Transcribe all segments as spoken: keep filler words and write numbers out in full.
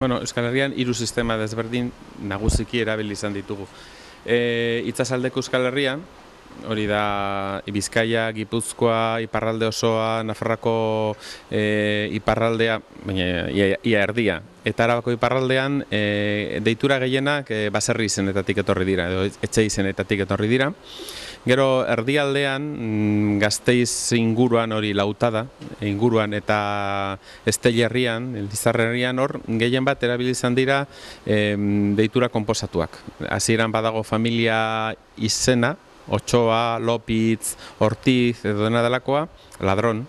Bueno, Euskal Herrian hiru sistema desberdin nagusiki erabili izan ditugu. E, Itsasaldeko Euskal Herrian, hori da Bizkaia, Gipuzkoa, iparralde osoa, Nafarroako e, iparraldea, baina ia, ia erdia. Eta Arabako iparraldean e, deitura gehienak e, baserri izenetatik etorri dira, edo etxe izenetatik etorri dira. Gero erdialdean Gasteiz inguruan hori Lautada inguruan eta Estella herrian, Lizarra herrian hor gehien bat erabili izan dira e, deitura konposatuak. Hasieran badago familia izena, Otxoa, Lopitz, Ortiz edo dena delakoa, Ladron,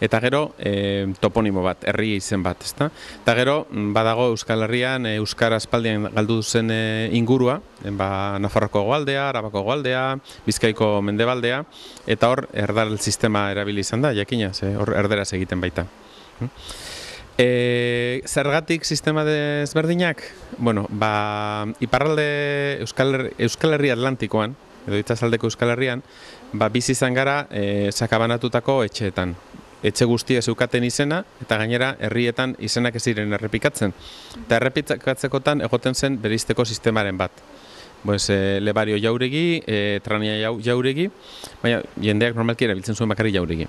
eta gero e, toponimo bat, herri izen bat, ezta? Eta gero badago Euskal Herrian e, Euskara aspaldian galdu zen e, ingurua, ba, Nafarroko hegoaldea, Arabako hegoaldea, Bizkaiko mendebaldea, eta hor erdal sistema erabili izan da, jakina, ze hor erderaz egiten baita. E, zergatik sistema desberdinak? Bueno, ba, iparralde Euskal, Euskal Herri Atlantikoan, edo itsasaldeko Euskal Herrian, ba, bizi izan gara e, sakabanatutako etxeetan. Etxe guztia zeukaten izena, eta gainera herrietan izenak ez ziren errepikatzen. Eta errepikatzekotan egoten zen bereizteko sistemaren bat. Pues, e, Lebario Jauregi, e, Trania Jauregi, baina jendeak normalki erabiltzen zuen bakarri Jauregi.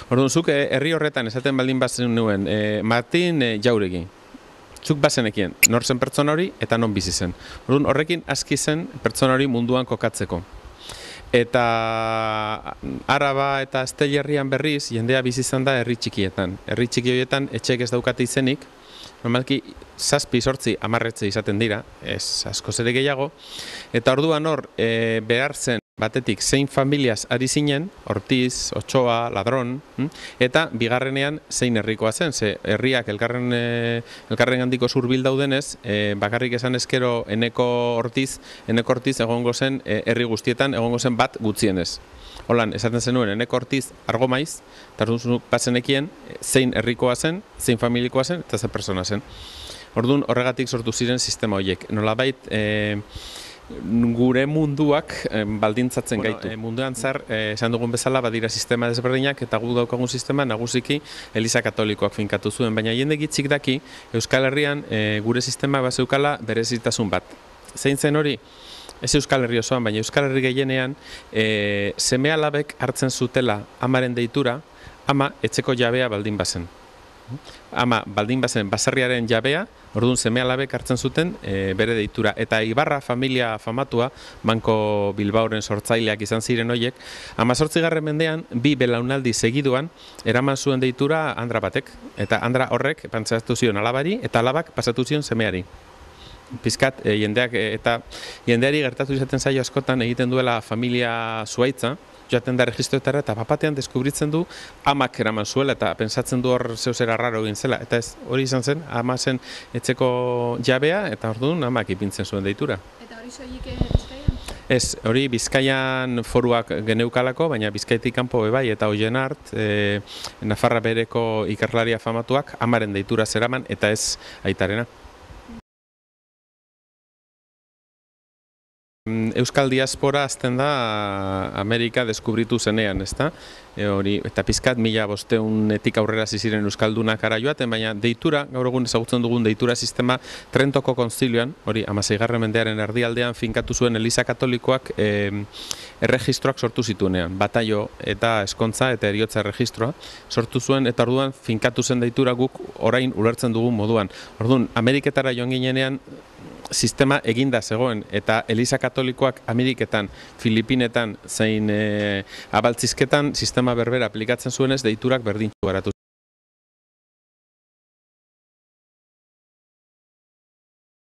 Orduan, zuk e, herri horretan esaten baldin bazen nuen, e, Martin e, Jauregi. Zuk bazenekien, nor zen pertsona hori eta non bizi zen. Orduan, horrekin aski zen pertsona hori munduan kokatzeko. Eta Araba eta Estella herrian berriz, jendea bizi izan da herri txikietan. Herri txiki horietan etxeek ez daukate izenik, normalki zazpi, sortzi, hamarretze izaten dira, ez askoz ere gehiago. Eta orduan hor, e, behar zen batetik zein familiaz ari zinen, Ortiz, Otxoa, Ladron, eta bigarrenean zein herrikoa zen, ze herriak elkarren, e, elkarren handiko zurbil daudenez, e, bakarrik esan eskero eneko Ortiz, eneko Ortiz egongo zen e, herri guztietan egongo zen bat gutxienez. Holan, esaten zenuen, eneko Ortiz argo maiz, eta orduan bazenekien zein herrikoa zen, zein familikoa zen, eta ze persona zen. Orduan horregatik sortu ziren sistema horiek. Nolabait, e, gure munduak e, baldintzatzen bueno, gaitu. E, munduan zar, e, esan dugun bezala, badira sistema desberdinak, eta gu daukagun sistema nagusiki Eliza Katolikoak finkatu zuen. Baina jende gitzik daki, Euskal Herrian e, gure sistema bazeukala berezitasun bat. Zein zen hori? Ez Euskal Herri osoan, baina Euskal Herri gehienean e, seme alabek hartzen zutela amaren deitura, ama etxeko jabea baldin bazen. Ama baldin bazen baserriaren jabea, orduan seme alabek hartzen zuten e, bere deitura. Eta Ibarra familia famatua, Banko Bilbaoren sortzaileak izan ziren horiek, hamazortzigarren mendean, bi belaunaldi segiduan, eraman zuen deitura Andra batek. Eta Andra horrek pantsatu zion alabari, eta alabak pasatu zion semeari. Pizkat, e, jendeak, e, eta jendeari gertatu izaten zaio askotan egiten duela familia zuaitza, joaten da registroetara eta bapatean deskubritzen du amak eraman zuela eta pentsatzen du hor zeuzera raro egin zela. Eta ez hori izan zen, ama zen etxeko jabea eta orduan amak ipintzen zuen deitura. Eta hori soilik Bizkaian? Ez, hori Bizkaian foruak geneukalako, baina Bizkaitik kanpo bebai eta hoien hart, e, Nafarra bereko ikerlaria famatuak amaren deitura zeraman eta ez aitarena. Euskal diaspora azten da Amerika deskubritu zenean, ezta? E, hori, eta pizkat mila bosteunetik aurrera ziren Euskaldunak ara joaten, baina deitura, gaur egun ezagutzen dugun deitura sistema Trentoko konzilioan, hori hamaseigarren mendearen erdialdean finkatu zuen Eliza Katolikoak e, erregistroak sortu zituenean, bataio eta eskontza eta eriotza erregistroa sortu zuen, eta orduan finkatu zen deitura guk orain ulertzen dugun moduan. Orduan, Ameriketara joan ginenean, sistema eginda zegoen, eta Eliza Katolikoak Ameriketan, Filipinetan, zein e, abaltzizketan sistema berbera aplikatzen zuenez deiturak berdintxu garatu